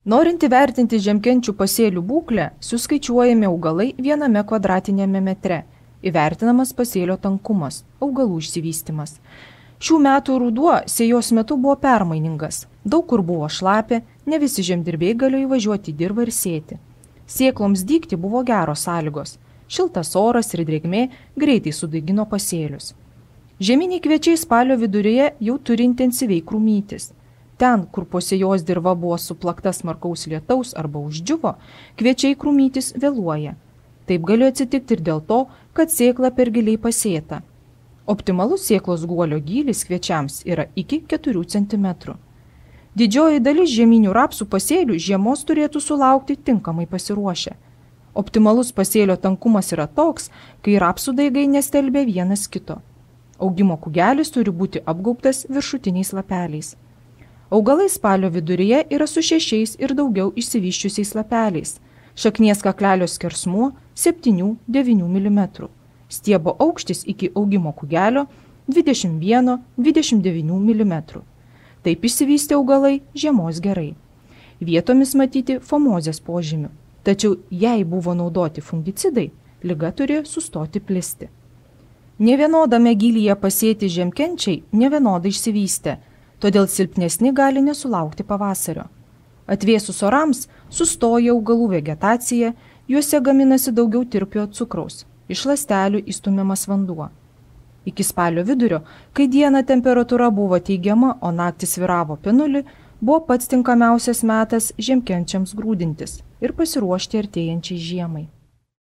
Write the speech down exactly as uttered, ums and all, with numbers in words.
Norint įvertinti žiemkenčių pasėlių būklę, suskaičiuojami augalai viename kvadratinėme metre, įvertinamas pasėlio tankumas, augalų išsivystymas. Šių metų ruduo sėjos metu buvo permainingas, daug kur buvo šlapia, ne visi žemdirbiai galėjo įvažiuoti į dirvą ir sėti. Sėkloms dygti buvo geros sąlygos, šiltas oras ir drėgmė greitai sudaigino pasėlius. Žieminiai kviečiai spalio viduryje jau turi intensyviai krūmytis. Ten, kur po sėjos dirva buvo suplakta smarkaus lietaus arba uždžiuvo, kviečiai krūmytis vėluoja. Taip gali atsitikti ir dėl to, kad sėkla per giliai pasėta. Optimalus sėklos guolio gylis kviečiams yra iki keturių centimetrų. Didžioji dalis žieminių rapsų pasėlių žiemos turėtų sulaukti tinkamai pasiruošę. Optimalus pasėlio tankumas yra toks, kai rapsų daigai nestelbia vienas kito. Augimo kūgelis turi būti apgaubtas viršutiniais lapeliais. Augalai spalio viduryje yra su šešiais ir daugiau išsivyščiusiais lapeliais. Šaknies kaklelio skersmuo septynių devynių milimetrų. Stiebo aukštis iki augimo kūgelio dvidešimt vienas dvidešimt devynių milimetrų. Taip išsivystė augalai žiemos gerai. Vietomis matyti fomozės požymių. Tačiau jei buvo naudoti fungicidai, liga turėjo sustoti plisti. Nevienodame gylyje pasėti žiemkenčiai nevienodai išsivystė, todėl silpnesni gali nesulaukti pavasario. Atvėsus orams sustoja augalų vegetacija, juose gaminasi daugiau tirpiojo cukraus, iš ląstelių įstumiamas vanduo. Iki spalio vidurio, kai dieną temperatūra buvo teigiama, o naktį svyravo apie nulį, buvo pats tinkamiausias metas žiemkenčiams grūdintis ir pasiruošti artėjančiai žiemai.